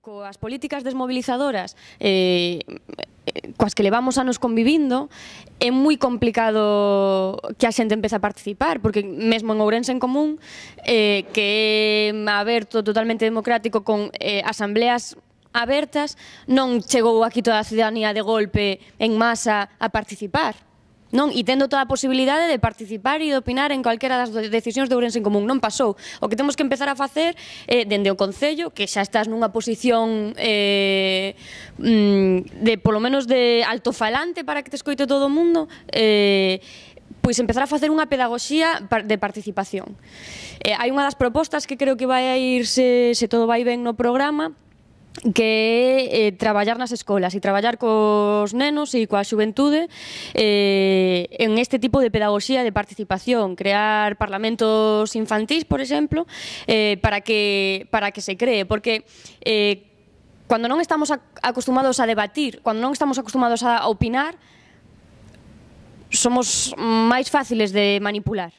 coas políticas desmovilizadoras coas que levamos anos convivindo, é moi complicado que a xente empece a participar, porque mesmo en Ourense en Común, que é aberto, totalmente democrático, con asambleas abertas, non chegou aquí toda a ciudadanía de golpe en masa a participar. Non? E tendo toda a posibilidade de participar e de opinar en calquera das decisións de Ourense en Común. Non pasou. O que temos que empezar a facer dende o Concello, que xa estás nunha posición de, polo menos, de altofalante para que te escoite todo o mundo, pois empezar a facer unha pedagogía de participación. Hai unha das propostas que creo que vai a ir, se todo vai ben no programa, que é traballar nas escolas e traballar cos nenos e coa xuventude en este tipo de pedagogía de participación, crear parlamentos infantís, por exemplo, para que se cree, porque cando non estamos acostumados a debatir, cando non estamos acostumados a opinar, somos máis fáciles de manipular.